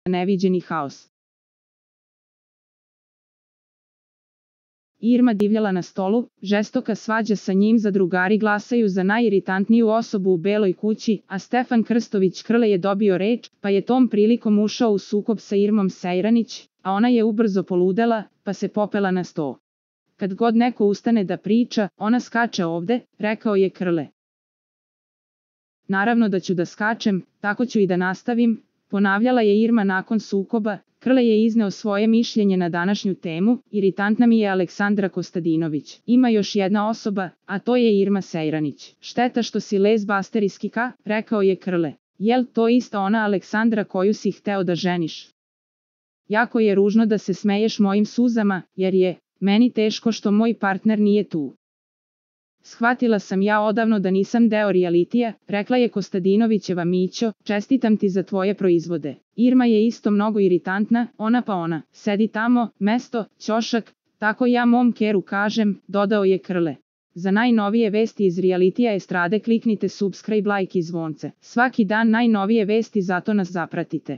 neviđeni haos. Irma divljala na stolu, žestoka svađa sa njim zadrugari glasaju za najiritantniju osobu u Beloj kući, a Stefan Krstović Krle je dobio reč, pa je tom prilikom ušao u sukob sa Irmom Sejranić, a ona je ubrzo poludela, pa se popela na sto. Kad god neko ustane da priča, ona skače ovde, rekao je Krle. Naravno da ću da skačem, tako ću i da nastavim, ponavljala je Irma nakon sukoba. Krle je izneo svoje mišljenje na današnju temu, iritantna mi je Aleksandra Kostadinović. Ima još jedna osoba, a to je Irma Sejranić. Šteta što si lezbasterijskika, rekao je Krle. Jel to ista ona Aleksandra koju si hteo da ženiš? Jako je ružno da se smeješ mojim suzama, jer je meni teško što moj partner nije tu. Shvatila sam ja odavno da nisam deo realitija, rekla je Kostadinovićeva Mićo, čestitam ti za tvoje proizvode. Irma je isto mnogo iritantna, ona, sedi tamo, mesto, ćošak, tako ja mom keru kažem, dodao je Krle. Za najnovije vesti iz realitija estrade kliknite subscribe, like i zvonce. Svaki dan najnovije vesti, zato nas zapratite.